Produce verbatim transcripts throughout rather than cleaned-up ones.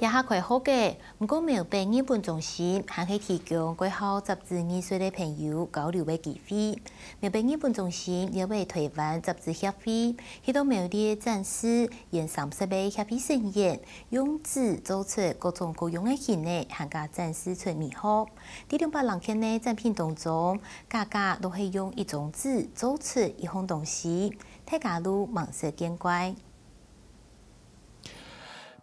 這下開學个，毋過苗北藝文中心還係提供蓋好摺紙藝術个朋友交流个機會。苗北藝文中心也為臺灣摺紙協會去到苗栗展示，現三十个協會成員用紙做出各種各樣个形仔，還加展示出美學。在兩百零件个展品當中，家家都係用一張紙做出一項東西，大家都目色見怪。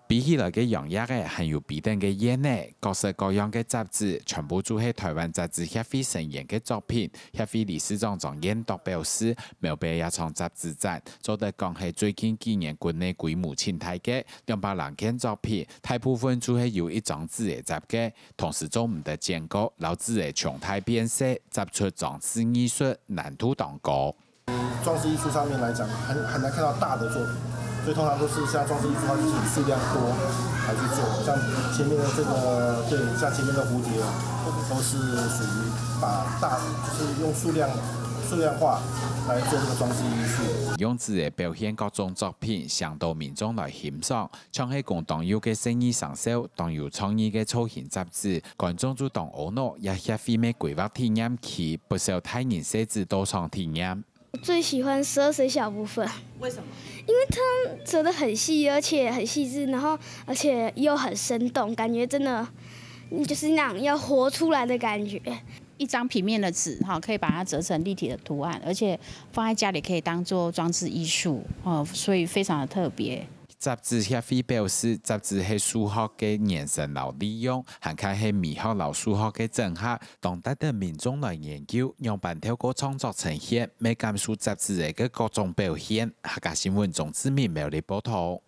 飛起來个揚蝶仔，還有飛等个燕仔，各式各樣个摺紙，全部就係臺灣摺紙協會成員个作品。協會理事長張彥鐸表示，苗北這場摺紙展，做得講係最近幾年國內規模盡大个，兩百零件作品，大部分就係由一張紙仔摺个，同時做毋得剪過，摎紙仔重大變細，摺出裝置藝術難度當高。 裝置艺术上面来讲，很很难看到大的作品，所以通常都是像装置艺术，它就是以数量多来去做。像前面的这个，对，像前面的蝴蝶，都是属于把大，就是用数量数量化来做这个装置艺术。用紙仔表現各種作品，嚮導民眾來欣賞，像係講當幼个細義生肖，當有創意个造型摺紙，觀眾就當阿腦，也協會乜規劃體驗區，不少大人細子都想體驗。 最喜欢十二生肖部分，为什么？因为它折得很细，而且很细致，然后而且又很生动，感觉真的就是那种要活出来的感觉。一张平面的纸哈，可以把它折成立体的图案，而且放在家里可以当做装置艺术哦，所以非常的特别。摺紙協會表示，摺紙係數學个延伸摎利用，還較係美學摎數學个整合，當值得民眾來研究，仰般透過創作呈現，乜感受摺紙仔个各種表現。客家新聞鍾志明苗栗報導。